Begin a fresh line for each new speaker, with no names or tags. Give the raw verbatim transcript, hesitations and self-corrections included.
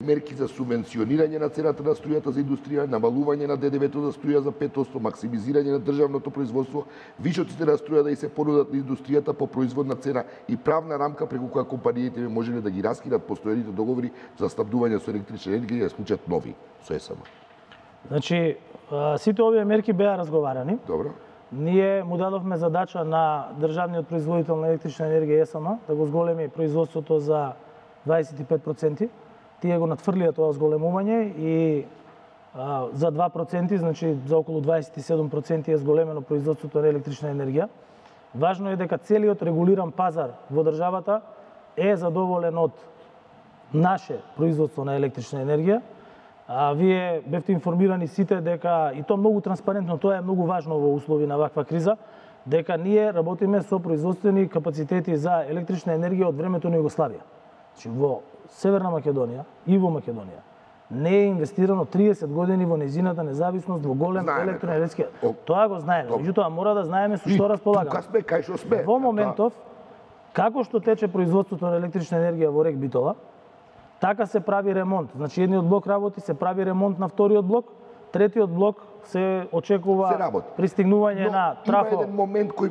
Мерки за субвенционирање на цената на струјата за индустрија, намалување на Д Д В-то за струја за пет одсто, максимизирање на државното производство, вишоците на струја да и се понудат на индустријата по производна цена и правна рамка преку која компаниите би можеле да ги раскинат постојаните договори за снабдување со електрична енергија и да склучат нови со Е С М.
Значи, сите овие мерки беа разговарани.
Добро.
Ние му дадовме задача на државниот производител на електрична енергија Е С М да го зголеми производството за дваесет и пет проценти. Тие го надфрлија тоа зголемување и а, за два проценти, значи за околу дваесет и седум проценти е зголемено производството на електрична енергија. Важно е дека целиот регулиран пазар во државата е задоволен од наше производство на електрична енергија. А вие бевте информирани сите дека, и тоа многу транспарентно, тоа е многу важно во услови на ваква криза, дека ние работиме со производствени капацитети за електрична енергија од времето на Југославија. Значи во Северна Македонија и во Македонија не е инвестирано триесет години во нејзината независност во голем електроенергетски. Тоа го знаеме, меѓутоа мора да знаеме со што располагаме.
Тука сме кај што сме.
Во моментов, како што тече производството на електрична енергија во Рек Битола, така се прави ремонт. Значи едниот блок работи, се прави ремонт на вториот блок, третиот блок се очекува
се
пристигнување на трафо.
Има еден момент кој